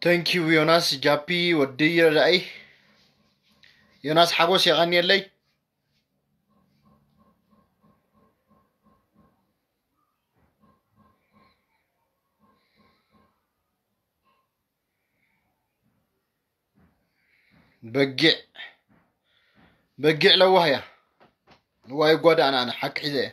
Thank you ዮናስ ጃፒ ወዲ ረዳኢ። ዮናስ ሓጎስ የቐንየለይ። በጊዕ በጊዕ ለዋህ እያ። ዋይ ጓዳእና ኣነ ሓቂ ሒዘ እየ።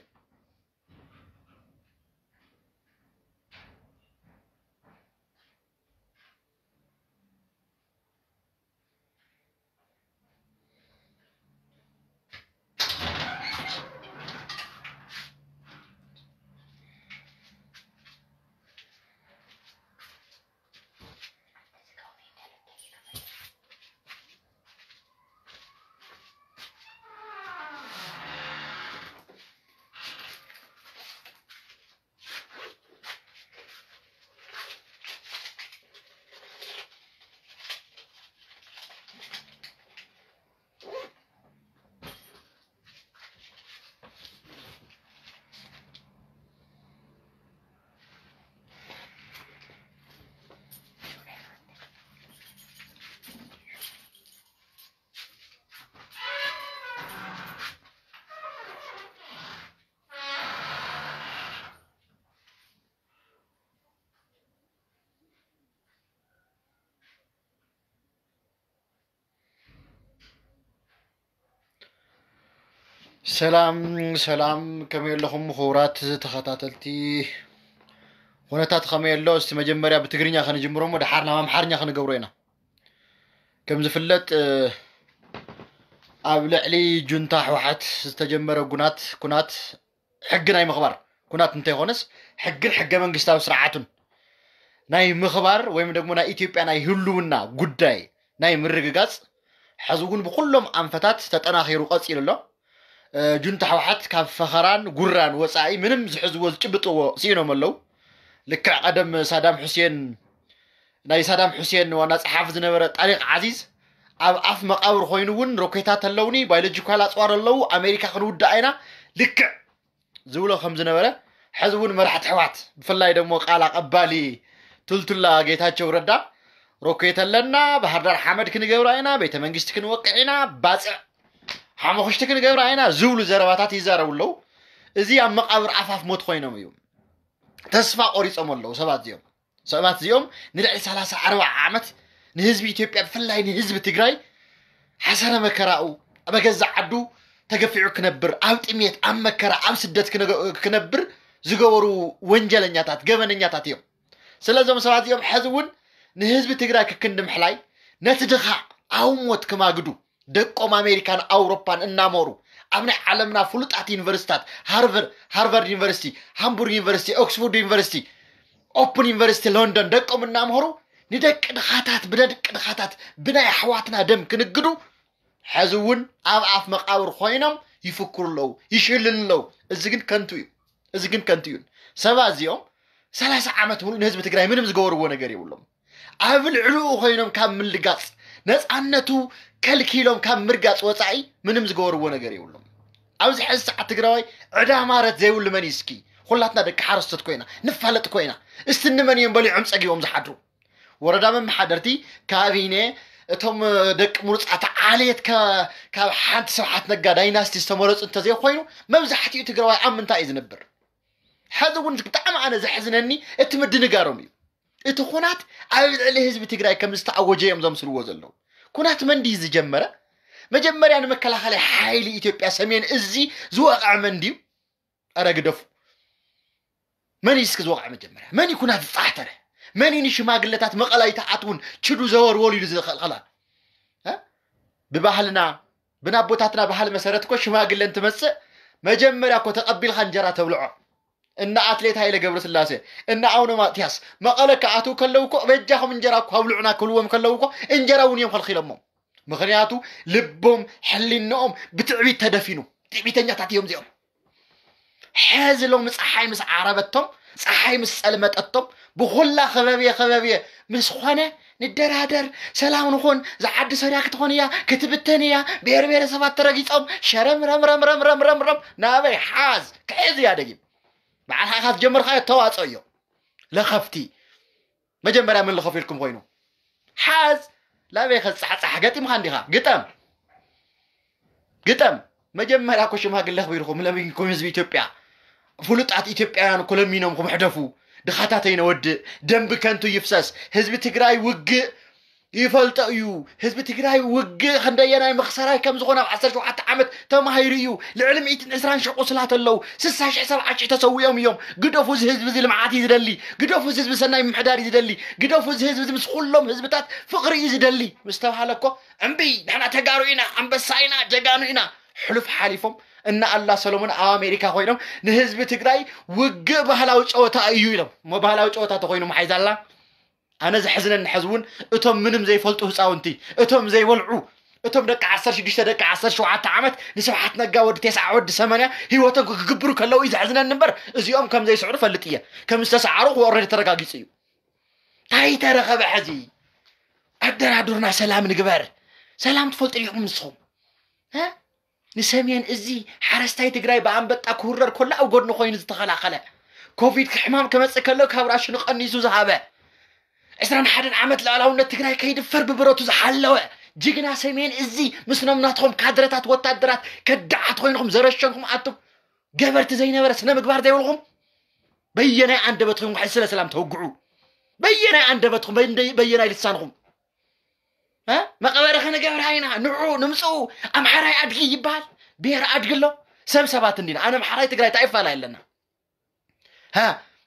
ሰላም ሰላም፣ ከመይ ኣለኹም ክቡራት ተኸታተልቲ? ኩነታት ከመይ ኣሎ? እስቲ መጀመርያ ብትግርኛ ከንጅምሮ እሞ ደሓር ናብ ኣምሓርኛ ክንገብሮ ኢና። ከም ዝፍለጥ፣ እ፣ ኣብ ልዕሊ ጁንታ ህወሓት ዝተጀመረ ጉናት፣ ኩናት ሕጊ ናይ ምኽባር ኩናት እንተይኮነስ፣ ሕግን ሕገ መንግስታዊ ስርዓቱን ናይ ምኽባር ወይም ደግሞ ናይ ኢትዮጵያ ናይ ህልውና ጉዳይ ናይ ምርግጋጽ፣ ሕዚ እውን ብኩሎም ኣንፈታት ተጠናኺሩ ቀጺሉ ኣሎ። እ፣ ጁንታ ህወሓት ካብ ፈኸራን ጉራን ወጻኢ ምንም ዝሕዝዎ ዝጭብጥዎ ስኢኖም ኣለዉ። ልክዕ ቀደም ሳዳም ሑሴን፣ ናይ ሳዳም ሑሴን ዋና ጸሓፊ ዝነበረ ጣሪቅ ዓዚዝ ኣብ ኣፍ መቃብር ኮይኑ እውን ሮኬታት ኣለውኒ፣ ባዮሎጂካል ኣጽዋር ኣለዉ፣ ኣሜሪካ ክንውድኣ ኢና፣ ልክዕ ዝብሎ ከም ዝነበረ፣ ሕዚ እውን መራሕቲ ኣሕዋት፣ ብፍላይ ደሞ ቃል ኣቐባሊ ቱልቱላ ጌታቸው ረዳ፣ ሮኬት ኣለና፣ ባህር ዳር ሓመድ ክንገብራ ኢና፣ ቤተ መንግስቲ ክንወቅዕ ኢና፣ ባፅዕ ሓመኹሽቲ ክንገብራ ኢና ዝብሉ ዘረባታት ይዛረቡ ኣለዉ። እዚ ኣብ መቃብር ኣፋፍ ሞት ኮይኖም እዮም። ተስፋ ቆሪጾም ኣለዉ ሰባት እዚኦም። ሰባት እዚኦም ንልዕሊ ሰላሳ ኣርባዓ ዓመት ንህዝቢ ኢትዮጵያ፣ ብፍላይ ንህዝቢ ትግራይ፣ ሓሰረ መከራኡ፣ ኣብ ገዛ ዓዱ ተገፊዑ ክነብር፣ ኣብ ጥሜት፣ ኣብ መከራ፣ ኣብ ስደት ክነገ-፣ ክነብር ዝገበሩ ወንጀለኛታት፣ ገበነኛታት እዮም። ስለዞም ሰባት እዚኦም ሕዚ እውን ንህዝቢ ትግራይ ክክንዲ ምሕላይ፣ ነቲ ድኻ ኣብ ሞት ክማግዱ፣ ደቆም ኣሜሪካን ኣውሮፓን እናመሩ፣ ኣብ ናይ ዓለምና ፍሉጣት ዩኒቨርሲታት፣ ሃርቨር-፣ ሃርቫርድ ዩኒቨርሲቲ፣ ሃምቡርግ ዩኒቨርሲቲ፣ ኦክስፎርድ ዩኒቨርሲቲ፣ ኦፕን ዩኒቨርሲቲ ሎንዶን ደቆም እናምሃሩ፣ ንደቂ ድኻታት፣ ብደቂ ድኻታት፣ ብናይ ኣሕዋትና ደም ክንግዱ፣ ሕዚ እውን ኣብ ኣፍ መቃብር ኮይኖም ይፍክሩ ኣለዉ፣ ይሽልሉ ኣለዉ። እዚ ግን ከንቱ እዩ። እዚ ግን ከንቱ እዩ። ሰባት እዚኦም ሰላሳ ዓመት ሙሉእ ንህዝቢ ትግራይ ምንም ዝገበርዎ ነገር የብሎም። ኣብ ልዕሊኡ ኮይኖም ካብ ምልጋፅ፣ ነፃነቱ ከልኪሎም ካብ ምርጋፅ ወፃኢ ምንም ዝገበርዎ ነገር የብሎም። ኣብዚ ሕዚ ሰዓት ትግራዋይ ዕዳ ማረት ዘይብሉ መን እዩ እስኪ? ኩላትና ደቂ ሓረስቶት ኮይና፣ ንፋለጥ ኮይና፣ እስቲ ንመን እዮም በሊዖም ፀጊቦም ዝሓድሩ? ወረዳ መመሓደርቲ፣ ካቢኔ፣ እቶም ደቂ ምሩፃት ዓሌት ከ-፣ ካብ ሓንቲ ስብሓት ነጋ ዳይናስቲ ዝተመረፁ እንተዘይኮይኑ፣ መብዛሕትኡ ትግራዋይ ኣብ ምንታይ እዩ ዝነብር? ሕዚ እውን ብጣዕሚ ኣነ ዘሕዝነኒ እቲ ምድንጋሮም እዩ። እቲ ኩናት ኣብ ልዕሊ ህዝቢ ትግራይ ከም ዝተኣወጀ እዮም ዘምስልዎ ዘለዉ። ኩናት መን ድዩ ዝጀመረ? መጀመርያ ንመከላኸሊ ሓይሊ ኢትዮጵያ ሰሜን እዚ ዝወቕዐ መን ድዩ? ኣረ ግደፉ። መን እዩ እስኪ ዝወቕዐ መጀመርያ? መን እዩ ኩናት ዝጻሕተረ? መን እዩ ንሽማግለታት መቐለ ኣይትኣትውን ችዱ ዘወርወሉ ኢሉ ዝኸልኸላ? እ? ብባህልና፣ ብናቦታትና ባህሊ መሰረት እኮ ሽማግለ እንትመጽእ መጀመርያ እኮ ተቐቢልካ እንጀራ ተብልዖ። እነ ኣትሌት ሃይለ ገብረስላሴ፣ እነ ኣቡነ ማትያስ መቐለ ክኣትዉ ከለዉ እኮ በጃኹም እንጀራ እኮ ኣብልዑና ክብልዎም ከለዉ እኮ እንጀራ እውን እዮም ከልኪሎሞም። ምኽንያቱ ልቦም ሕሊንኦም ብትዕቢት ተደፊኑ። ትዕቢተኛታት እዮም እዚኦም። ሕዚ ሎሚ ፀሓይ ምስ ዓረበቶም፣ ፀሓይ ምስ ፀልመጠቶም፣ ብኹላ ኸበብየ ኸበብየ ምስ ኾነ ንደራደር፣ ሰላም ንኹን፣ እዛ ዓዲ ሰሪያ ክትኾን እያ፣ ክትብተን እያ፣ ብሄር ብሄረሰባት ተረጊፆም፣ ሸረም ረም ረም ረም ረም ረም ረም፣ ናበይ ሓዝ፣ ክሕዝ እያ ደጊም። ባዕልኻ ኢኻ ዝጀመርካዮ ተዋፅኦ እዮ። ለኸፍቲ። መጀመርያ መን ለኸፊልኩም ኮይኑ? ሓዝ ላበይ ከፃሕፃሕ ገጢምካ እንዲኻ ግጠም ግጠም መጀመርያ እኮ ሽማግለ ኣኽቢርኩም ለሚንኩም ህዝቢ ኢትዮጵያ ፍሉጣት ኢትዮጵያውያን እኮ ለሚኖምኩም ሕደፉ። ድኻታት ኣይነወድእ። ደም ብከንቱ ይፍሰስ። ህዝቢ ትግራይ ውግእ ይፈልጦ እዩ። ህዝቢ ትግራይ ውግእ ክንደየናይ መኽሰራይ ከም ዝኾነ ኣብ ዓሰርተ ሸውዓተ ዓመት ተማሂሩ እዩ። ልዕሊ ሚእትን ዕስራን ሺሕ ቁስላት ኣለዉ። ስሳ ሺሕ ሰብዓ ሺሕ ተሰዊኦም እዮም። ግደፉ፣ እዚ ህዝቢ እዚ ልምዓት እዩ ዝደሊ። ግደፉ፣ እዚ ህዝቢ ሰናይ ምምሕዳር እዩ ዝደሊ። ግደፉ፣ እዚ ህዝቢ እዚ ምስ ኩሎም ህዝብታት ፍቕሪ እዩ ዝደሊ ምስ ተባሃለ እኮ እምቢ፣ ንሕና ተጋሩ ኢና፣ ኣንበሳ ኢና፣ ጀጋኑ ኢና። ሕሉፍ ሓሊፎም እነ ኣሉላ ሰሎሞን ኣብ ኣሜሪካ ኮይኖም ንህዝቢ ትግራይ ውግእ ባህላዊ ጨወታ እዩ ኢሎም። እሞ ባህላዊ ጨወታ ተኮይኑ መሓይዛላ ኣነ ዘሕዝነኒ ሕዚ እውን እቶም ምንም ዘይፈልጡ ህፃውንቲ፣ እቶም ዘይበልዑ፣ እቶም ደቂ ዓሰርተ ሽዱሽተ ደቂ ዓሰርተ ሸውዓተ ዓመት ንስብሓት ነጋ ወዲ ተስዓ ወዲ ሰማንያ ህይወቶም ክግብሩ ከለዉ እዩ ዘሕዝነኒ እምበር እዚኦም ከም ዘይስዕሩ ፈልጥ እየ። ከም ዝተሰዓሩ ክወረድ ተረጋጊፁ እዩ። እንታይ ተረኸበ ሕዚ? ኣደራድሩና፣ ሰላም ንግበር። ሰላም ትፈልጡ ዲኹም ንስኹም? እ? ንሰሜን እዚ ሓረስታይ ትግራይ ብኣንበጣ ክውረር ከሎ ኣብ ጎድኑ ኮይኑ ዝተኸላኸለ፣ ኮቪድ ሕማም ክመፅእ ከሎ ካብ ራሽኑ ቀኒሱ ዝሃበ፣ ዕስራን ሓደን ዓመት ልኣላውነት ትግራይ ከይድፈር ብብረቱ ዝሓለወ ጅግና ሰሜን እዚ ምስ ኖም ናትኹም ካድረታት ወታደራት ከዳዓት ኮይንኹም ዘረሸንኩም ኣቱም ገበርቲ ዘይነበረ ስነ ምግባር ዘይብልኹም በየናይ ኣንደበትኹም ውሕድ ስለ ሰላም ተውግዑ? በየናይ ኣንደበትኹም በየናይ ልሳንኹም መቐበሪ ክንገብራ ኢና ንዑ ንምፅኡ ኣምሓራይ ኣድጊ ይበሃል። ብሄር ኣድጊ ኣሎ። ሰብ ሰባት እንዲና ኣነ ኣምሓራይ ትግራይ እንታይ ይፋላ የለና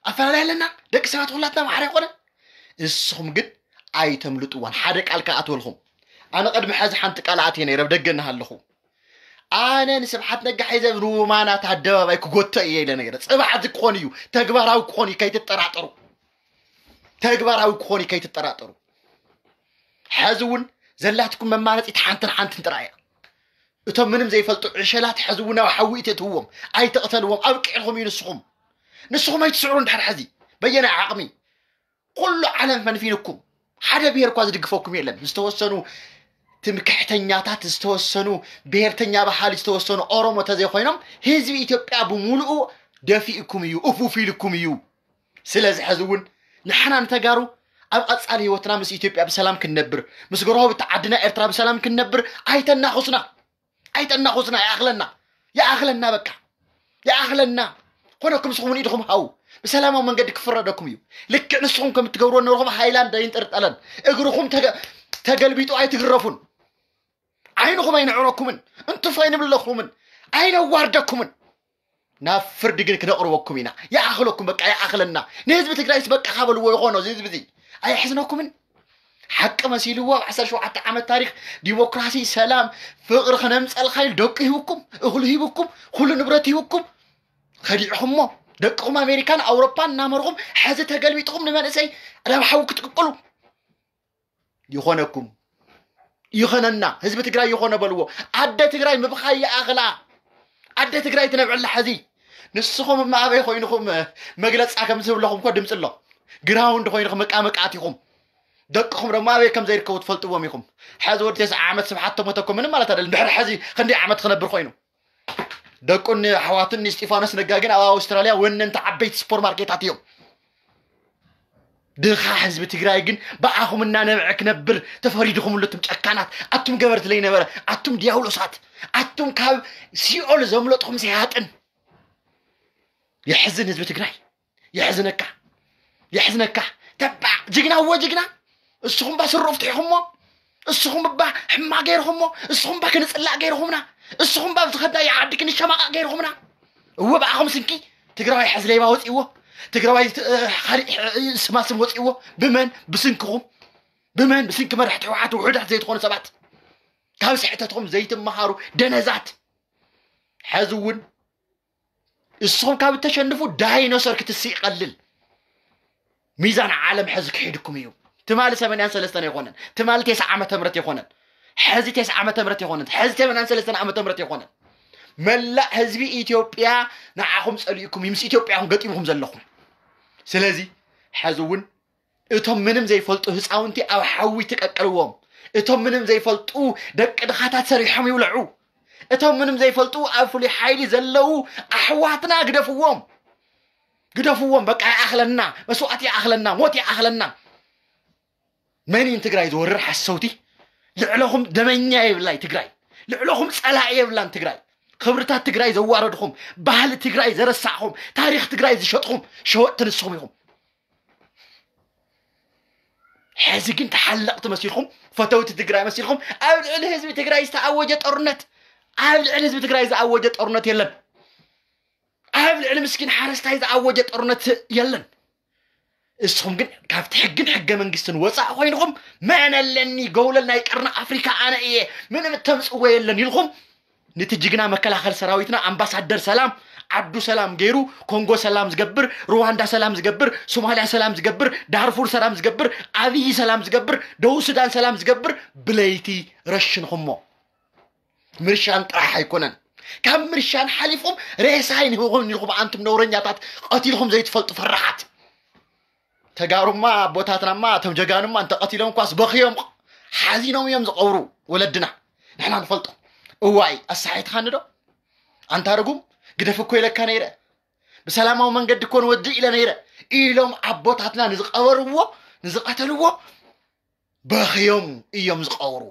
ኣፈላለይ ኣለና። ደቂ ሰባት ኩላትና ኣምሓራይ ኮነ። እስኹም ግን ኣይተምልጥዋን። ሓደ ቃል ከኣትወልኹም ኣነ ቅድሚ ሕዚ ሓንቲ ቃል ኣትየ ነይረ ብደገ እናሃለኹ ኣነ ንስብሓት ነጋ ሒዘ ንማናት ኣደባባይ ክጎተ እየ ኢለ ነይረ። ፅባሕ እዚ ክኾን እዩ፣ ተግባራዊ ክኾን እዩ፣ ከይትጠራጠሩ። ተግባራዊ ክኾን እዩ፣ ከይትጠራጠሩ። ሕዚ እውን ዘላትኩም መማረፂት ሓንትን ሓንትን ጥራይ እያ። እቶም ምንም ዘይፈልጡ ዕሸላት ሕዚ እውን ኣብ ሓዊ እትእትውዎም ኣይተቕተልዎም። ኣብቂዕኹም እዩ ንስኹም። ንስኹም ኣይትስዕሩ እንድሕር ሕዚ በየናይ ዓቕሚ ኩሉ ዓለም ፈንፊንኩም ሓደ ብሄር እኳ ዝድግፈኩም የለን። ዝተወሰኑ ትምክሕተኛታት ዝተወሰኑ ብሄርተኛ ባህሊ ዝተወሰኑ ኦሮሞ ተዘይኮይኖም ህዝቢ ኢትዮጵያ ብምሉኡ ደፊእኩም እዩ፣ እፉፍ ኢልኩም እዩ። ስለዚ ሕዚ እውን ንሕና ንተጋሩ ኣብ ቀፃሊ ህይወትና ምስ ኢትዮጵያ ብሰላም ክንነብር ምስ ጎረባብቲ ዓድና ኤርትራ ብሰላም ክንነብር ኣይተናኹስና። ኣይተናኹስና ይኣኽለና ይኣኽለና በቃ ይኣኽለና። ኮነኩም ንስኹም ንኢድኹም ሃው ብሰላማዊ መንገዲ ክፍረደኩም እዩ። ልክዕ ንስኹም ከም እትገብርዎ ነበርኹም ሃይላንድ ኣይንጥርጠለን። እግርኹም ተገ- ተገልቢጡ ኣይትግረፉን። ዓይንኹም ኣይንዕረኩምን። እንቱፍ ኣይንብለኹምን። ኣይነዋርደኩምን። ናብ ፍርዲ ግን ክነቕርበኩም ኢና። ይኣኽለኩም በቃ ይኣኽለና። ንህዝቢ ትግራይስ በቃ ካበልዎ ይኾኖ እዚ ህዝቢ እዚ ኣየሕዝነኩምን? ሓቂ መሲልዎ ኣብ ዓሰርተ ሸውዓተ ዓመት ታሪክ ዲሞክራሲ ሰላም ፍቕሪ ክነምፀልካ ኢሉ ደቁ ሂብኩም እኽሉ ሂብኩም ኩሉ ንብረት ሂብኩም ከዲዕኹሞ ደቅኹም ኣሜሪካን ኣውሮፓን እናመርኹም ሕዚ ተገልቢጥኹም ንመንእሰይ ናብ ሓዊ ክትቅቅሉ ይኾነኩም ይኸነና ህዝቢ ትግራይ ይኾነ በልዎ። ኣደ ትግራይ ምብኻይ ይኣኽላ። ኣደ ትግራይ ትነብዕላ ሕዚ ንስኹም እማ ኣበይ ኮይንኹም መግለፃ ከም ዝህብለኹም ኮ ድምፂ ኣሎ። ግራውንድ ኮይንኹም መቃመቃት ኢኹም። ደቅኹም ደሞ ኣበይ ከም ዘይርከቡ ትፈልጥዎም ኢኹም። ሕዚ ወዲ ተስዓ ዓመት ስብሓት ተሞተ እኮ ምንም ማለት ኣይደለም። ድሕሪ ሕዚ ክንደይ ዓመት ክነብር ኮይኑ ደቁን ኣሕዋቱን ንእስጢፋኖስ ነጋ ግን ኣብ ኣውስትራልያ ወነንቲ ዓበይቲ ሱፐርማርኬታት እዮም። ድኻ ህዝቢ ትግራይ ግን ብኣኹም እናነብዐ ክነብር ተፈሪድኹምሉ። እቱም ጨካናት ኣቱም ገበርቲ ዘይነበረ ኣቱም ዲያብሎሳት ኣቱም ካብ ሲኦል ዘምለጥኹም ሰያጥን። የሕዝን ህዝቢ ትግራይ የሕዝነካ የሕዝነካ። ተባዕ ጅግና እወ ጅግና። እስኹም ባ ስሮ ፍትሕኹሞ እስኹም ባ ሕማ ገይርኹሞ እስኹም ባ ክንፅላእ ገይርኹምና እስኹም ባ ብዝኸዳ ይዓዲ ክንሸማቃ ገይርኹምና። እወ ብኣኹም ስንኪ ትግራዋይ ሕዚ ሌባ ወፂእዎ። ትግራዋይ ካልእ ስማስም ወፂእዎ። ብመን ብስንክኹም ብመን ብስንኪ መራሕቲ ህወሓት ውሑዳት ዘይትኾኑ ሰባት ካብ ስሕተትኹም ዘይትመሃሩ ደነዛት። ሕዚ እውን እስኹም ካብ እተሸንፉ ዳይኖሰር ክትስእ ይቐልል። ሚዛን ዓለም ሕዚ ክሒድኩም እዩ። ትማሊ ሰማንያን ሰለስተን ኣይኮነን፣ ትማሊ ተስዓ ዓመተ ምህረት ኣይኮነን፣ ሕዚ ተስዓ ዓመተ ምህረት ኣይኮነን፣ ሕዚ ሰማንያን ሰለስተን ዓመተ ምህረት ኣይኮነን። መላእ ህዝቢ ኢትዮጵያ ንዓኹም ጸሊእኩም እዩ፣ ምስ ኢትዮጵያ ኢኹም ገጢምኩም ዘለኹም። ስለዚ ሕዚ እውን እቶም ምንም ዘይፈልጡ ህፃውንቲ ኣብ ሓዊ ትቀቅልዎም። እቶም ምንም ዘይፈልጡ ደቂ ድኻታት ሰሪሖም ይብልዑ። እቶም ምንም ዘይፈልጡ ኣብ ፍሉይ ሓይሊ ዘለዉ ኣሕዋትና ግደፍዎም፣ ግደፍዎም። በቃ ይኣኽለና፣ መስዋእቲ ይኣኽለና፣ ሞት ይኣኽለና። መን እዩ ንትግራይ ዝወርር ሓሰውቲ? ልዕለኹም ደመኛ የብላይ ትግራይ። ልዕለኹም ጸላኢ የብላን ትግራይ። ክብርታት ትግራይ ዘዋረድኹም፣ ባህሊ ትግራይ ዘረሳዕኹም፣ ታሪኽ ትግራይ ዝሸጥኹም ሸወጥቲ ንስኹም ኢኹም። ሕዚ ግን ተሓለቕቲ መሲልኩም፣ ፈተውቲ ትግራይ መሲልኩም ኣብ ልዕሊ ህዝቢ ትግራይ ዝተኣወጀ ጦርነት፣ ኣብ ልዕሊ ህዝቢ ትግራይ ዝኣወጀ ጦርነት የለን። ኣብ ልዕሊ ምስኪን ሓረስታይ ዝኣወጀ ጦርነት የለን። እስኹም ግን ካብቲ ሕግን ሕገ መንግስትን ወፃእ ኮይንኹም፣ መን ኣለኒ፣ ጎውለል ናይ ቀርኒ ኣፍሪካ ኣነ እየ፣ ምንም እተምፅዎ የለን ኢልኩም፣ ነቲ ጅግና መከላኸል ሰራዊትና ኣምባሳደር ሰላም፣ ዓዱ ሰላም ገይሩ፣ ኮንጎ ሰላም ዝገብር፣ ሩዋንዳ ሰላም ዝገብር፣ ሶማልያ ሰላም ዝገብር፣ ዳርፉር ሰላም ዝገብር፣ ኣብይ ሰላም ዝገብር፣ ደቡብ ሱዳን ሰላም ዝገብር ብለይቲ ረሽንኹሞ። ምርሻን ጥራሕ ኣይኮነን። ካብ ምርሻን ሓሊፍኩም ሬሳ ኣይንህብኹም ኢልኩም ኣንቱም ነውረኛታት፣ ቀቲልኩም ዘይትፈልጡ ፈራሓት። ተጋሩማ ኣቦታትናማ እቶም ጀጋኑማ እንተቐቲሎም እኳስ በኽዮም ሓዚኖም እዮም ዝቐብሩ ወለድና። ንሕና ንፈልጦ። እዋይ ኣሳሒትኻኒ ዶ ኣንታ ርጉም፣ ግደፍ እኮ ኢለካ ነይረ፣ ብሰላማዊ መንገዲ እኮ ንወድእ ኢለ ነይረ ኢሎም ኣቦታትና ንዝቐበርዎ ንዝቐተልዎ በኽዮም እዮም ዝቐብሩ።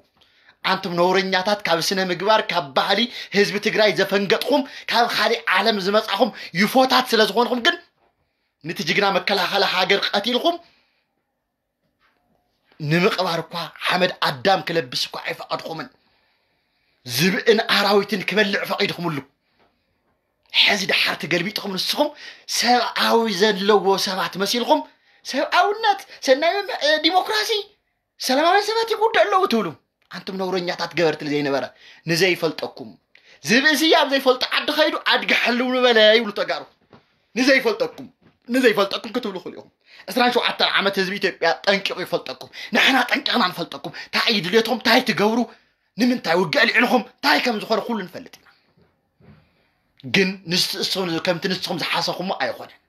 ኣንቱም ነውረኛታት፣ ካብ ስነ ምግባር፣ ካብ ባህሊ ህዝቢ ትግራይ ዘፈንገጥኩም፣ ካብ ካሊእ ዓለም ዝመጻኹም ዩፎታት ስለ ዝኾንኩም ግን ነቲ ጅግና መከላኸሊ ሃገር ቀቲልኩም ንምቕባር እኳ ሓመድ ኣዳም ክለብስ እኳ ኣይፈቐድኩምን። ዝብእን ኣራዊትን ክበልዕ ፈቒድኩምሉ። ሕዚ ደሓር ተገልቢጥኩም ንስኹም ሰብኣዊ ዘለዎ ሰባት መሲልኩም ሰብኣውነት፣ ሰናይ መም- እ፣ ዲሞክራሲ፣ ሰላማውያን ሰባት ይጉዳእ ኣለዉ ትብሉ። ኣንቱም ነውረኛታት ገበርቲ ዘይነበረ ንዘይፈልጠኩም ዝብእሲ ኣብ ዘይፈልጦ ዓዲ ኸይዱ ኣድጊ ሓልው ንበለ ይብሉ ተጋሩ። ንዘይፈልጠኩም ንዘይፈልጠኩም ክትብሉ ክእል ኢኹም። ዕስራን ሸውዓተን ዓመት ህዝቢ ኢትዮጵያ ጠንቂቑ ይፈልጠኩም። ንሕና ጠንቂቕና ንፈልጠኩም። እንታይ እዩ ድሌትኩም? እንታይ ትገብሩ? ንምንታይ ውግእ ኣልዒልኹም? እንታይ ከም ዝኾነ ኩሉ ንፈልጥ ኢና። ግን ንስ- እሱ- ከምቲ ንስኹም ዝሓሰኹሞ ኣይኾነን።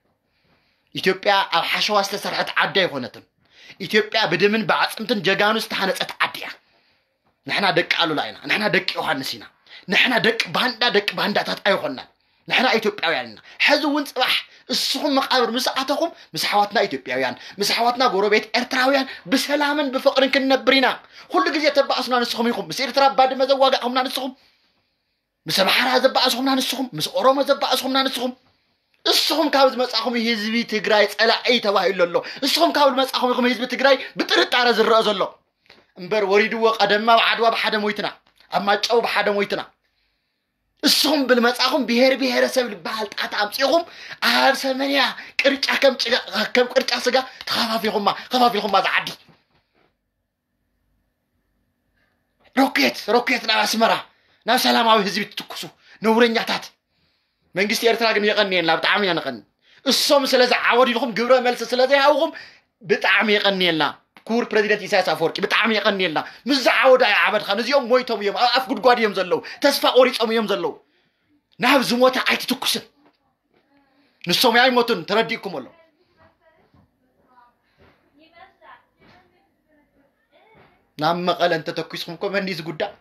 ኢትዮጵያ ኣብ ሓሸዋ ዝተሰርሐት ዓዲ ኣይኾነትን። ኢትዮጵያ ብደምን ብዓፅምትን ጀጋኑ ዝተሃነፀት ዓዲ እያ። ንሕና ደቂ ኣሉላ ኢና። ንሕና ደቂ ዮሃንስ ኢና። ንሕና ደቂ ባንዳ፣ ደቂ ባንዳታት ኣይኾንናን። ንሕና ኢትዮጵያውያን ኢና። ሕዚ እውን ፅባሕ እስኹም መቃብር ምስ ኣተኹም ምስ ኣሕዋትና ኢትዮጵያውያን፣ ምስ ኣሕዋትና ጎረቤት ኤርትራውያን ብሰላምን ብፍቕርን ክንነብር ኢና። ኩሉ ግዜ ተባእሱና ንስኹም ኢኹም። ምስ ኤርትራ ባድመ ዘዋጋእኹምና ንስኹም፣ ምስ ኣምሓራ ዘባእስኹምና ንስኹም፣ ምስ ኦሮሞ ዘባእስኹምና ንስኹም። እስኹም ካብ ዝመጻኹም ህዝቢ ትግራይ ጸላኢ ተባሂሉ ኣሎ። እስኹም ካብ ዝመጻኹም ኢኹም ህዝቢ ትግራይ ብጥርጣረ ዝረአ ዘሎ። እምበር ወሪድዎ ቀደም ኣብ ዓድዋ ብሓደ ሞይትና፣ ኣብ ማይጨው ብሓደ ሞይትና። እስኹም ብልመጻኹም ብሄር ብሄረሰብ ዝበሃል ጣት ኣምጺኹም ኣብ ሰመንያ ቅርጫ ከም ጭጋ- ከም ቅርጫ ስጋ ተኸፋፊኹማ ከፋፊኹማ ዝዓዲ። ሮኬት ሮኬት ናብ ኣስመራ ናብ ሰላማዊ ህዝቢ ትትኩሱ ነውረኛታት። መንግስቲ ኤርትራ ግን የቐንየልና፣ ብጣዕሚ ኢና ንቐኒ። እሶም ስለ ዝዓወዱ ኢልኩም ግብረ መልሲ ስለ ዘይሃብኹም ብጣዕሚ የቐንየልና። ክቡር ፕረዚደንት ኢሳያስ ኣፈወርቂ ብጣዕሚ የቐንየልና። ምስ ዝዓወዱ ኣይዓበድኻን። እዚኦም ሞይቶም እዮም፣ ኣብ ኣፍ ጉድጓድ እዮም ዘለዉ፣ ተስፋ ቆሪጾም እዮም ዘለዉ። ናብ ዝሞተ ኣይትትኩስን። ንሶም ኣይሞቱን፣ ተረዲእኩም ኣሎ። ናብ መቐለ እንተተኩስኩም እኮ መን እዩ ዝጉዳእ?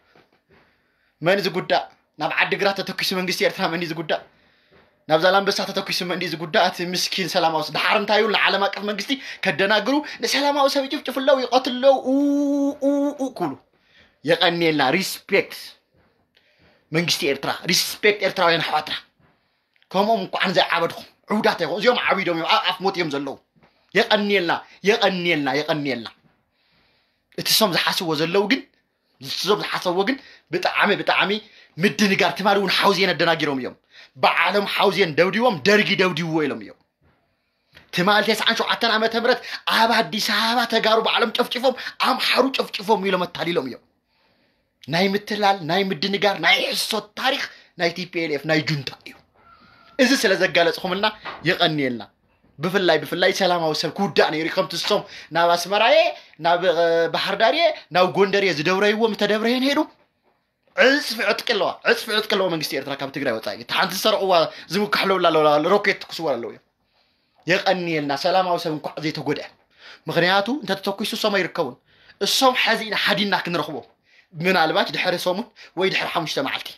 መን ዝጉዳእ? ናብ ዓዲግራት ተተኪሱ መንግስቲ ኤርትራ መን እዩ ዝጉዳእ? ናብ ዛላምበሳ ተተኪሱ መን እዩ ዝጉዳእ? እቲ ምስኪን ሰላማዊ ስ- ድሓር እንታይ ይብሉ? ንዓለም ኣቀፍ መንግስቲ ከደናግሩ ንሰላማዊ ሰብ ይጭፍጭፉ ኣለዉ፣ ይቐትሉ ኣለዉ፣ ኡ- ኡ- ኡ ክብሉ። የቐንየልና። ሪስፔክት መንግስቲ ኤርትራ፣ ሪስፔክት ኤርትራውያን ኣሕዋትና። ከምኦም እንኳዓን ዘይዓበድኹም ዕውዳት ኣይኮኑ። እዚኦም ዓቢዶም እዮም፣ ኣብ ኣፍ ሞት እዮም ዘለዉ። የቐንየልና፣ የቐንየልና፣ የቐንየልና። እቲ ሶም ዝሓስብዎ ዘለዉ ግን እዞም ዝሓሰብዎ ግን ብጣዕሚ ብጣዕሚ ምድንጋር። ትማሊ እውን ሓውዜን ኣደናጊሮም እዮም። በዓሎም ሓውዜን ደብዲቦም ደርጊ ደብዲብዎ ኢሎም እዮም። ትማሊ ተስዓን ሸውዓተን ዓመተ ምህረት ኣብ ኣዲስ ኣበባ ተጋሩ ባዕሎም ጨፍጭፎም ኣምሓሩ ጨፍጭፎም ኢሎም ኣታሊሎም እዮም። ናይ ምትላል ናይ ምድንጋር ናይ ሕሶት ታሪኽ ናይ ቲፒኤልኤፍ ናይ ጁንታ እዩ። እዚ ስለ ዘጋለፅኹምልና የቐንየልና። ብፍላይ ብፍላይ ሰላማዊ ሰብ ክውዳእ ነይሩ እዩ። ከምቲ እሶም ናብ ኣስመራየ ናብ እ፣ ባህር ዳርየ ናብ ጎንደርየ ዝደብረይዎ ምስ ተደብረየ ነይሩ ዕፅፊ ዕጥቂ ኣለዋ። ዕፅፊ ዕጥቂ ኣለዎ መንግስቲ ኤርትራ ካብ ትግራይ ወፃኢ። እቲ ሓንቲ ዝሰረቕዋ ዝምካሕለውላ ኣለዋ፣ ሮኬት ትኩስዋ ኣለዉ እዮም። የቐንየልና። ሰላማዊ ሰብ እንኳዕ ዘይተጎድአ። ምኽንያቱ እንተተተኩሱ እሶም ኣይርከቡን። እሶም ሕዚ ኢና ሓዲና ክንረኽቦም፣ ምናልባች ድሕሪ ሰሙን ወይ ድሕሪ ሓሙሽተ መዓልቲ።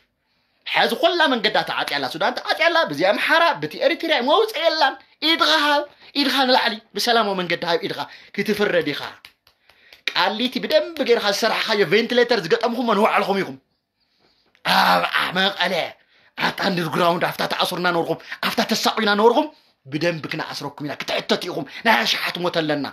ሕዚ ኩላ መንገዳ ተዓፅያ ኣላ። ሱዳን ተዓፅያ ኣላ፣ ብዚ ኣምሓራ ብቲ ኤሪትርያ መውፅኢ የላን። ኢድኻ ሃብ፣ ኢድኻ ንላዕሊ። ብሰላማዊ መንገዲ ሃብ ኢድኻ። ክትፍረድ ኢኻ። ኣሊቲ ብደንብ ጌርካ ዝሰራሕካዮ ቬንቲሌተር ዝገጠምኹሞ ንባዕልኹም ኢኹም። ኣብ መቐለ ኣብታ ኣንደርግራውንድ ኣብታ ተኣስሩና ነበርኩም፣ ኣብታ ተሳቑና ነበርኩም። ብደንብ ክነኣስረኩም ኢና፣ ክትሕተቱ ኢኹም። ናይ ኣሽሓት ሞት ኣለና።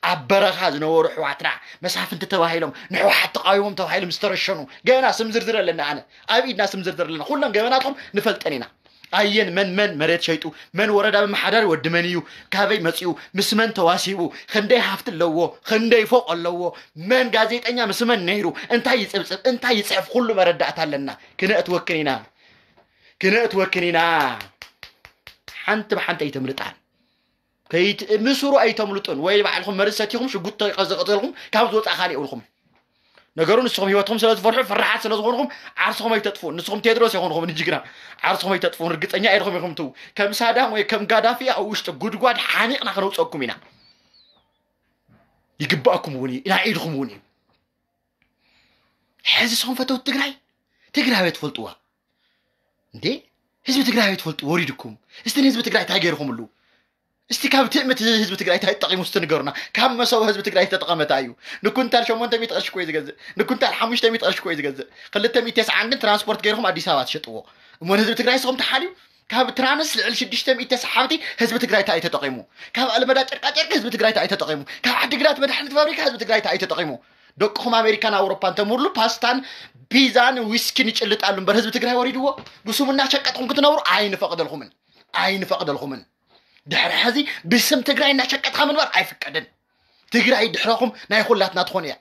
ኣብ በረኻ ዝነበሩ ኣሕዋትና መሳፍንቲ ተባሂሎም ንሕወሓት ተቓዊሞም ተባሂሎም ዝተረሸኑ፣ ገና ስም ዝርዝር ኣለና። ኣነ ኣብ ኢድና ስም ዝርዝር ኣለና። ኩሎም ገበናትኩም ንፈልጠን ኢና። ኣየን መን መን መሬት ሸይጡ፣ መን ወረዳ መመሓዳሪ ወዲ መን እዩ፣ ካበይ መፂኡ፣ ምስ መን ተዋሲቡ፣ ክንደይ ሃፍቲ ኣለዎ፣ ክንደይ ፎቕ ኣለዎ፣ መን ጋዜጠኛ ምስ መን ነይሩ፣ እንታይ ይፅብፅብ፣ እንታይ ይፅሕፍ፣ ኩሉ መረዳእታ ኣለና። ክነእትወክን ኢና፣ ክነእትወክን ኢና። ሓንቲ ብሓንቲ ኣይተምልጣን። ከይት-፣ ምስሩ ኣይተምልጡን። ወይ ባዕልኹም መርዝ ሰቲኹም ሽጉጥ ተዘቕዘልኩም ካብ ዝወፃእ ካልእ የብልኹም። ነገሩ ንስኹም ህይወትኩም ስለ ዝፈርሑ፣ ፍርሓት ስለ ዝኾንኩም ዓርስኹም ኣይተጥፍኡን። ንስኹም ቴድሮስ ኣይኮንኹምን ጅግና። ዓርስኹም ኣይተጥፍኡን። ርግፀኛ ኢድኹም ኢኹም ትው-፣ ከም ሳዳም ወይ ከም ጋዳፊ ኣብ ውሽጢ ጉድጓድ ሓኒቕና ከነውፀኩም ኢና። ይግባእኩም እውን እዩ። ናይ ኢድኹም እውን እዩ። ሕዚ ንስኹም ፈተውቲ ትግራይ፣ ትግራይ ትፈልጥዋ እንዴ? ህዝቢ ትግራይ ትፈልጡ ወሪድኩም። እስቲ ንህዝቢ ትግራይ እንታይ ገይርኹምሉ? እስቲ ካብ ትእምት ህዝቢ ትግራይ እንታይ ተጠቂሙ እስቲ ንገሩና። ካብ መሰቡ ህዝቢ ትግራይ ዝተጠቐመ እንታይ እዩ? ንኩንታል ሸሞንተ ሚእቲ ቅርሺ እኮ እዩ ዝገዝእ። ንኩንታል ሓሙሽተ ሚእቲ ቅርሺ እኮ እዩ ዝገዝእ። ክልተ ሚእቲ ተስዓን ግን ትራንስፖርት ገይርኩም ኣዲስ ኣበባ ትሸጥዎ። እሞ ንህዝቢ ትግራይ ንስኹም ተሓልዩ። ካብ ትራንስ ልዕሊ ሽዱሽተ ሚእቲ ተሰሓብቲ ህዝቢ ትግራይ እንታይ እዩ ተጠቂሙ? ካብ ኣልመዳ ጨርቃጨርቂ ህዝቢ ትግራይ እንታይ እዩ ተጠቂሙ? ካብ ዓዲግራት መድሓኒት ፋብሪካ ህዝቢ ትግራይ እንታይ እዩ ተጠቂሙ? ደቅኹም ኣሜሪካን ኣውሮፓን ተምርሉ ፓስታን ፒዛን ዊስኪን ይጭልጣሉ እምበር ህዝቢ ትግራይ ወሪድዎ? ብስሙ እናሸቀጥኩም ክትነብሩ ኣይንፈቕደልኩምን። ኣይንፈቕደልኩምን። ድሕሪ ሕዚ ብስም ትግራይ እናሸቀጥካ ምንባር ኣይፍቀድን። ትግራይ ድሕረኹም ናይ ኩላትና ትኾን እያ።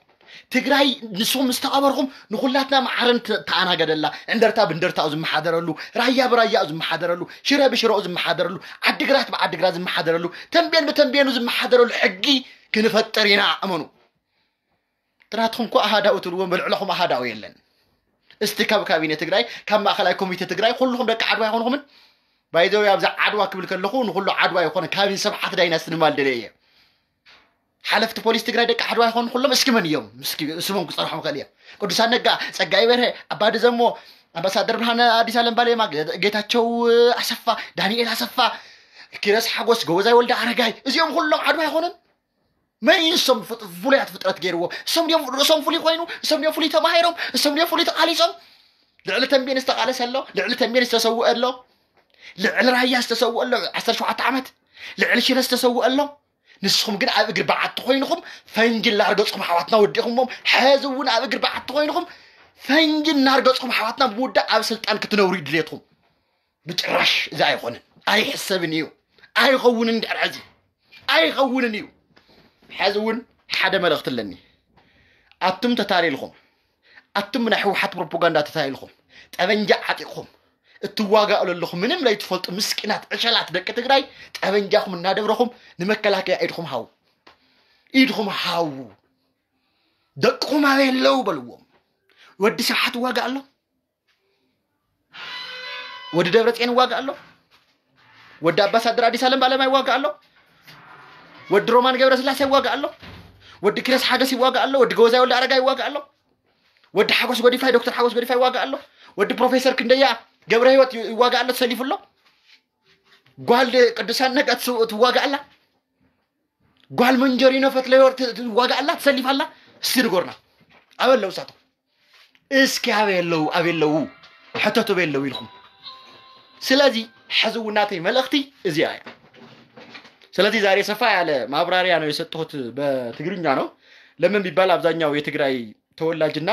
ትግራይ ንስኹም ምስ ተቐበርኩም ንኹላትና ማዕረን ት-፣ ተኣናገደላ። እንደርታ ብእንደርታኡ ዝመሓደረሉ፣ ራያ ብራያኡ ዝመሓደረሉ፣ ሽረ ብሽረኡ ዝመሓደረሉ፣ ዓዲግራት ብዓዲግራት ዝመሓደረሉ፣ ተንቤን ብተንቤኑ ዝመሓደረሉ ሕጊ ክንፈጥር ኢና። እመኑ። ጥራትኩም እኮ ኣሃዳኡ ትብልዎም፣ ብልዕለኹም ኣሃዳኡ የለን። እስቲ ካብ ካቢነ ትግራይ፣ ካብ ማእኸላይ ኮሚቴ ትግራይ፣ ኩልኹም ደቂ ዓድዋ ኣይኮንኹምን? ባይዘው ኣብዛ ዓድዋ ክብል ከለኹ ንኹሉ ዓድዋ ይኾነ፣ ካቢን ሰብሓት ዳይናስቲ ንማል ደለ እየ። ሓለፍቲ ፖሊስ ትግራይ ደቂ ዓድዋ ይኾኑ ኩሎም፣ እስኪ መን እዮም? እስኪ ስሞም ክፀርሖም ክእል እዮም። ቅዱሳን ነጋ፣ ፀጋይ በርሀ፣ ኣባዲ ዘሞ፣ ኣምባሳደር ብርሃነ ኣዲስ ኣለም ባሌማ፣ ጌ-፣ ጌታቸው ኣሰፋ፣ ዳንኤል ኣሰፋ፣ ኪረስ ሓጎስ፣ ጎበዛይ ወልደ ኣረጋይ፣ እዚኦም ኩሎም ዓድዋ ኣይኾኑን? መን እዩ ንሶም ፍጥ-፣ ፍሉያት ፍጥረት ገይርዎ? እሶም ድዮም ርእሶም ፍሉይ ኮይኑ? እሶም ድዮም ፍሉይ ተማሂሮም? እሶም ድዮም ፍሉይ ተቓሊሶም? ልዕሊ ተንቤን ዝተቓለሰ ኣሎ? ልዕሊ ተንቤን ዝተሰውአ ኣሎ? ልዕሊ ራያ ዝተሰውአ ኣሎ? ዓሰርተ ሸውዓተ ዓመት ልዕሊ ሽረ ዝተሰውአ ኣሎ? ንስኹም ግን ኣብ እግሪ በዓቲ ኮይንኹም ፈንጂ እናርገጽኩም ኣሕዋትና ወዲኹሞም። ሕዚ እውን ኣብ እግሪ በዓቲ ኮይንኹም ፈንጂ እናርገጽኩም ኣሕዋትና ብምውዳእ ኣብ ስልጣን ክትነብሩ እዩ ድሌትኩም። ብጭራሽ እዚ ኣይኾንን፣ ኣይሕሰብን እዩ፣ ኣይኸውንን። ድሕሪ ሕዚ ኣይኸውንን እዩ። ሕዚ እውን ሓደ መልእኽቲ ኣለኒ። ኣቱም ተታሊልኩም፣ ኣቱም ናይ ህወሓት ፕሮፓጋንዳ ተታሊልኩም፣ ጠበንጃ ዓጢቕኩም እትዋጋኡ ዘለኹም ምንም ለይትፈልጡ ምስኪናት ዕሸላት ደቂ ትግራይ፣ ጠበንጃኹም እናደብረኹም ንመከላከያ ኢድኹም ሃቡ፣ ኢድኹም ሃቡ። ደቅኹም ኣበይ ኣለዉ በልዎም። ወዲ ስብሓት ይዋጋእ ኣሎ። ወዲ ደብረፅዮን ይዋጋእ ኣሎ። ወዲ ኣምባሳደር ኣዲስ ኣለም ባሌማ ይዋጋእ ኣሎ። ወዲ ሮማን ገብረስላሴ ይዋጋእ ኣሎ። ወዲ ኪረስ ሓጎስ ይዋጋእ ኣሎ። ወዲ ጎበዛይ ወልደ ኣረጋይ ይዋጋእ ኣሎ። ወዲ ሓጎስ ጎዲፋይ፣ ዶክተር ሓጎስ ጎዲፋይ ይዋጋእ ኣሎ። ወዲ ፕሮፌሰር ክንደያ ገብረ ህይወት ይዋጋእ ኣሎ፣ ተሰሊፉ ኣሎ። ጓል ቅዱሳን ነጋ ትስ-፣ ትዋጋእ ኣላ። ጓል መንጀሪኖ ፈትለወርቅ ት-፣ ትዋጋእ ኣላ፣ ተሰሊፋ ኣላ። እስቲ ንገሩና። ኣበይ ኣለዉ እሳቶም? እስኪ ኣበይ ኣለዉ? ኣበይ ኣለዉ? ሕተቱ፣ ኣበይ ኣለዉ ኢልኩም። ስለዚ ሕዚ እውን ናተይ መልእኽቲ እዚኣ እያ። ስለዚህ ዛሬ ሰፋ ያለ ማብራሪያ ነው የሰጠሁት፣ በትግርኛ ነው። ለምን ቢባል አብዛኛው የትግራይ ተወላጅና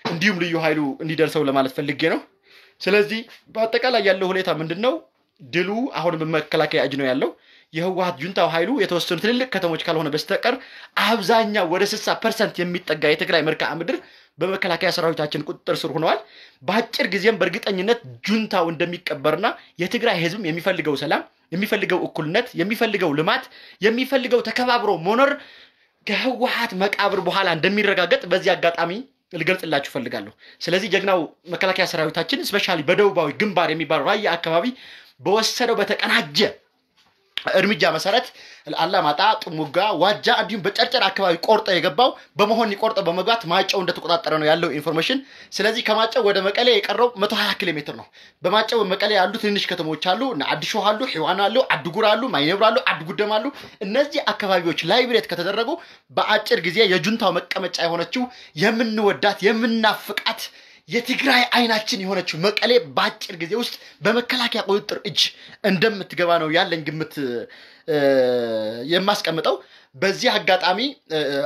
እንዲሁም ልዩ ኃይሉ እንዲደርሰው ለማለት ፈልጌ ነው። ስለዚህ በአጠቃላይ ያለው ሁኔታ ምንድን ነው? ድሉ አሁን በመከላከያ እጅ ነው ያለው። የህወሓት ጁንታው ኃይሉ የተወሰኑ ትልልቅ ከተሞች ካልሆነ በስተቀር አብዛኛው ወደ ስልሳ ፐርሰንት የሚጠጋ የትግራይ መልክዓ ምድር በመከላከያ ሰራዊታችን ቁጥጥር ስር ሆነዋል። በአጭር ጊዜም በእርግጠኝነት ጁንታው እንደሚቀበርና የትግራይ ህዝብም የሚፈልገው ሰላም፣ የሚፈልገው እኩልነት፣ የሚፈልገው ልማት፣ የሚፈልገው ተከባብሮ መኖር ከህወሓት መቃብር በኋላ እንደሚረጋገጥ በዚህ አጋጣሚ ልገልጽላችሁ እፈልጋለሁ። ስለዚህ ጀግናው መከላከያ ሰራዊታችን ስፔሻሊ በደቡባዊ ግንባር የሚባለው ራያ አካባቢ በወሰደው በተቀናጀ እርምጃ መሰረት አላማጣ፣ ጥሙጋ፣ ዋጃ እንዲሁም በጨርጨር አካባቢ ቆርጦ የገባው በመሆኒ ቆርጦ በመግባት ማይጨው እንደተቆጣጠረ ነው ያለው ኢንፎርሜሽን። ስለዚህ ከማይጨው ወደ መቀሌ የቀረው መቶ ሃያ ኪሎ ሜትር ነው። በማይጨው መቀሌ ያሉ ትንንሽ ከተሞች አሉ፣ እነ አዲሾህ አሉ፣ ሒዋን አሉ፣ አድጉር አሉ፣ ማይነብር አሉ፣ አድጉደም አሉ። እነዚህ አካባቢዎች ላይብሬት ከተደረጉ በአጭር ጊዜ የጁንታው መቀመጫ የሆነችው የምንወዳት የምናፍቃት የትግራይ አይናችን የሆነችው መቀሌ በአጭር ጊዜ ውስጥ በመከላከያ ቁጥጥር እጅ እንደምትገባ ነው ያለኝ ግምት የማስቀምጠው። በዚህ አጋጣሚ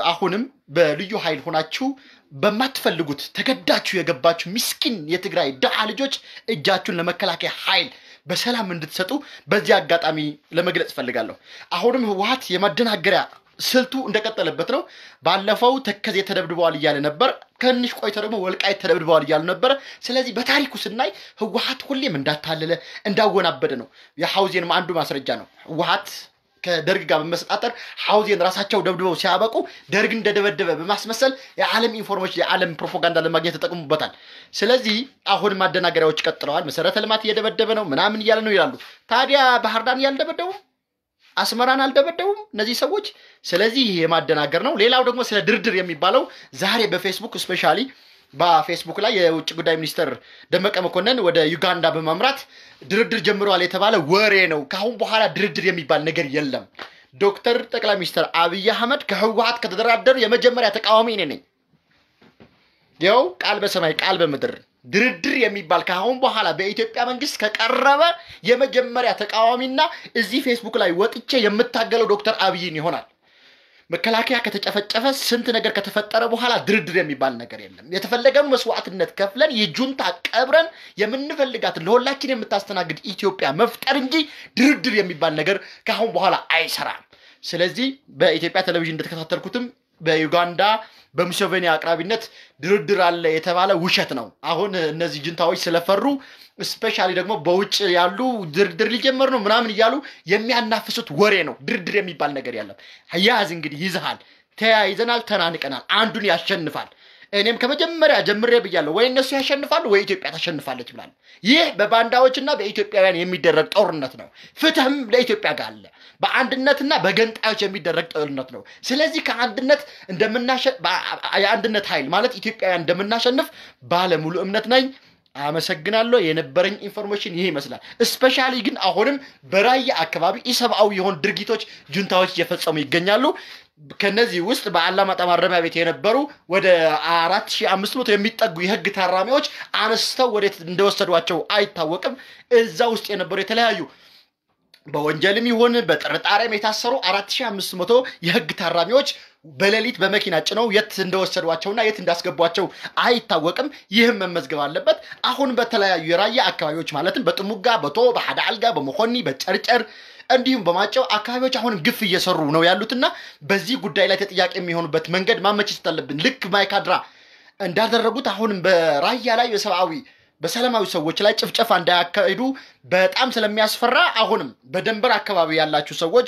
አሁንም በልዩ ኃይል ሆናችሁ በማትፈልጉት ተገዳችሁ የገባችሁ ምስኪን የትግራይ ድሃ ልጆች እጃችሁን ለመከላከያ ኃይል በሰላም እንድትሰጡ በዚህ አጋጣሚ ለመግለጽ እፈልጋለሁ። አሁንም ህወሓት የማደናገሪያ ስልቱ እንደቀጠለበት ነው። ባለፈው ተከዜ ተደብድበዋል እያለ ነበር። ከንሽ ቆይቶ ደግሞ ወልቃይት ተደብድበዋል እያሉ ነበር። ስለዚህ በታሪኩ ስናይ ህወሓት ሁሌም እንዳታለለ እንዳወናበደ ነው። የሐውዜንም አንዱ ማስረጃ ነው። ህወሓት ከደርግ ጋር በመሰጣጠር ሐውዜን ራሳቸው ደብድበው ሲያበቁ ደርግ እንደደበደበ በማስመሰል የዓለም ኢንፎርሜሽን የዓለም ፕሮፓጋንዳ ለማግኘት ተጠቅሙበታል። ስለዚህ አሁን ማደናገሪያዎች ቀጥለዋል። መሰረተ ልማት እየደበደበ ነው ምናምን እያለ ነው ይላሉ። ታዲያ ባህር ዳር ያልደበደቡ አስመራን አልደበደቡም እነዚህ ሰዎች። ስለዚህ ይሄ የማደናገር ነው። ሌላው ደግሞ ስለ ድርድር የሚባለው ዛሬ በፌስቡክ ስፔሻሊ በፌስቡክ ላይ የውጭ ጉዳይ ሚኒስትር ደመቀ መኮንን ወደ ዩጋንዳ በማምራት ድርድር ጀምረዋል የተባለ ወሬ ነው። ከአሁን በኋላ ድርድር የሚባል ነገር የለም። ዶክተር ጠቅላይ ሚኒስትር አብይ አህመድ ከህወሓት ከተደራደሩ የመጀመሪያ ተቃዋሚ እኔ ነኝ። ይኸው ቃል በሰማይ ቃል በምድር ድርድር የሚባል ከአሁን በኋላ በኢትዮጵያ መንግስት ከቀረበ የመጀመሪያ ተቃዋሚና እዚህ ፌስቡክ ላይ ወጥቼ የምታገለው ዶክተር አብይን ይሆናል። መከላከያ ከተጨፈጨፈ ስንት ነገር ከተፈጠረ በኋላ ድርድር የሚባል ነገር የለም። የተፈለገው መስዋዕትነት ከፍለን የጁንታ ቀብረን የምንፈልጋትን ለሁላችን የምታስተናግድ ኢትዮጵያ መፍጠር እንጂ ድርድር የሚባል ነገር ከአሁን በኋላ አይሰራም። ስለዚህ በኢትዮጵያ ቴሌቪዥን እንደተከታተልኩትም በዩጋንዳ በሙሴቬኒ አቅራቢነት ድርድር አለ የተባለ ውሸት ነው። አሁን እነዚህ ጁንታዎች ስለፈሩ ስፔሻሊ ደግሞ በውጭ ያሉ ድርድር ሊጀመር ነው ምናምን እያሉ የሚያናፍሱት ወሬ ነው። ድርድር የሚባል ነገር የለም። ያዝ እንግዲህ ይዝሃል። ተያይዘናል፣ ተናንቀናል። አንዱን ያሸንፋል። እኔም ከመጀመሪያ ጀምሬ ብያለሁ፣ ወይ እነሱ ያሸንፋሉ ወይ ኢትዮጵያ ታሸንፋለች ብላለሁ። ይህ በባንዳዎችና በኢትዮጵያውያን የሚደረግ ጦርነት ነው። ፍትህም ለኢትዮጵያ ጋር አለ። በአንድነትና በገንጣዮች የሚደረግ ጦርነት ነው። ስለዚህ ከአንድነት እንደምናሸ የአንድነት ኃይል ማለት ኢትዮጵያውያን እንደምናሸንፍ ባለሙሉ እምነት ነኝ። አመሰግናለሁ። የነበረኝ ኢንፎርሜሽን ይሄ ይመስላል። ስፔሻሊ ግን አሁንም በራያ አካባቢ ኢሰብአዊ የሆኑ ድርጊቶች ጁንታዎች እየፈጸሙ ይገኛሉ። ከነዚህ ውስጥ በአላማጣ ማረሚያ ቤት የነበሩ ወደ አራት ሺህ አምስት መቶ የሚጠጉ የህግ ታራሚዎች አነስተው ወዴት እንደወሰዷቸው አይታወቅም። እዛ ውስጥ የነበሩ የተለያዩ በወንጀልም ይሁን በጥርጣሬም የታሰሩ አራት ሺህ አምስት መቶ የህግ ታራሚዎች በሌሊት በመኪና ጭነው የት እንደወሰዷቸውና የት እንዳስገቧቸው አይታወቅም። ይህም መመዝገብ አለበት። አሁን በተለያዩ የራያ አካባቢዎች ማለትም በጥሙጋ፣ በቶ፣ በሓደ አልጋ፣ በመኾኒ፣ በጨርጨር እንዲሁም በማይጨው አካባቢዎች አሁንም ግፍ እየሰሩ ነው ያሉትና በዚህ ጉዳይ ላይ ተጠያቂ የሚሆኑበት መንገድ ማመቻቸት አለብን። ልክ ማይካድራ እንዳደረጉት አሁንም በራያ ላይ በሰብአዊ በሰላማዊ ሰዎች ላይ ጭፍጨፋ እንዳያካሂዱ በጣም ስለሚያስፈራ አሁንም በደንበር አካባቢ ያላችሁ ሰዎች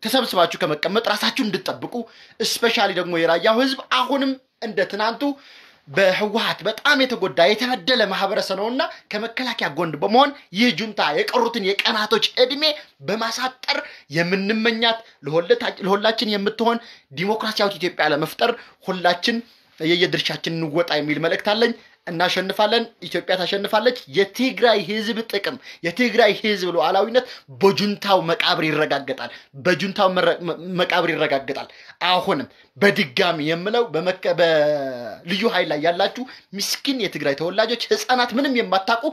ተሰብስባችሁ ከመቀመጥ ራሳችሁ እንድትጠብቁ፣ ስፔሻሊ ደግሞ የራያው ህዝብ አሁንም እንደ ትናንቱ በህወሓት በጣም የተጎዳ የተበደለ ማህበረሰብ ነውና ከመከላከያ ጎን በመሆን ይህ ጁንታ የቀሩትን የቀናቶች እድሜ በማሳጠር የምንመኛት ለሁላችን የምትሆን ዲሞክራሲያዊት ኢትዮጵያ ለመፍጠር ሁላችን የየድርሻችን እንወጣ የሚል መልእክት አለኝ። እናሸንፋለን። ኢትዮጵያ ታሸንፋለች። የትግራይ ህዝብ ጥቅም፣ የትግራይ ህዝብ ሉዓላዊነት በጁንታው መቃብር ይረጋገጣል፣ በጁንታው መቃብር ይረጋገጣል። አሁንም በድጋሚ የምለው በልዩ ኃይል ላይ ያላችሁ ምስኪን የትግራይ ተወላጆች፣ ህፃናት፣ ምንም የማታውቁ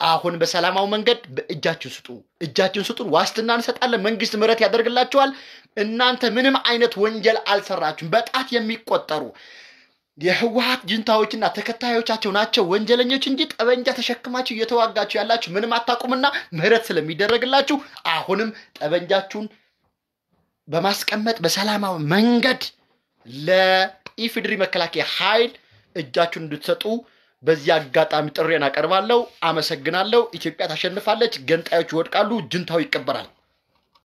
አሁን በሰላማዊ መንገድ እጃችሁን ስጡ፣ እጃችሁን ስጡን። ዋስትና እንሰጣለን። መንግስት ምህረት ያደርግላችኋል። እናንተ ምንም አይነት ወንጀል አልሰራችሁም። በጣት የሚቆጠሩ የህወሓት ጅንታዎችና ተከታዮቻቸው ናቸው ወንጀለኞች እንጂ ጠበንጃ ተሸክማችሁ እየተዋጋችሁ ያላችሁ ምንም አታውቁምና ምህረት ስለሚደረግላችሁ አሁንም ጠበንጃችሁን በማስቀመጥ በሰላማዊ መንገድ ለኢፌዴሪ መከላከያ ኃይል እጃችሁን እንድትሰጡ በዚህ አጋጣሚ ጥሬን አቀርባለሁ። አመሰግናለሁ። ኢትዮጵያ ታሸንፋለች። ገንጣዮች ይወድቃሉ። ጅንታው ይቀበራል።